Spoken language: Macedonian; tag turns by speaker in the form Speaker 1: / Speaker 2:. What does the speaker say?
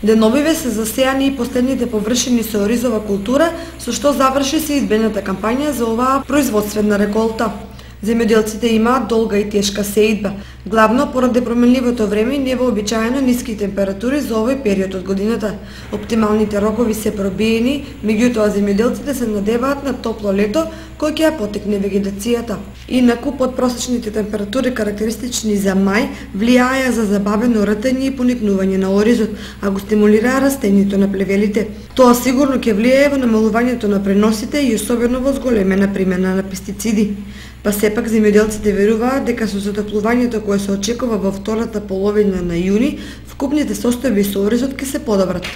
Speaker 1: Деновиве се засејани и последните површини со оризова култура, со што заврши се избената кампања за оваа производствена реколта. Земјоделците имаат долга и тешка сеидба, главно поради променливото време и невообичаено ниски температури за овој период од годината. Оптималните рокови се пробиени, меѓутоа земјоделците се надеваат на топло лето кој ќе ја потекне вегетацијата. Инаку подпросечните температури карактеристични за мај влијаеа за забавено ртење и поникнување на оризот, а го стимулираа растењето на плевелите. Тоа сигурно ќе влијае во намалувањето на преносите и особено во зголемена примена на пестициди. Па сепак земјоделците веруваат дека со затоплувањето кое се очекува во втората половина на јуни, вкупните состојби со оризот ќе се подобрат.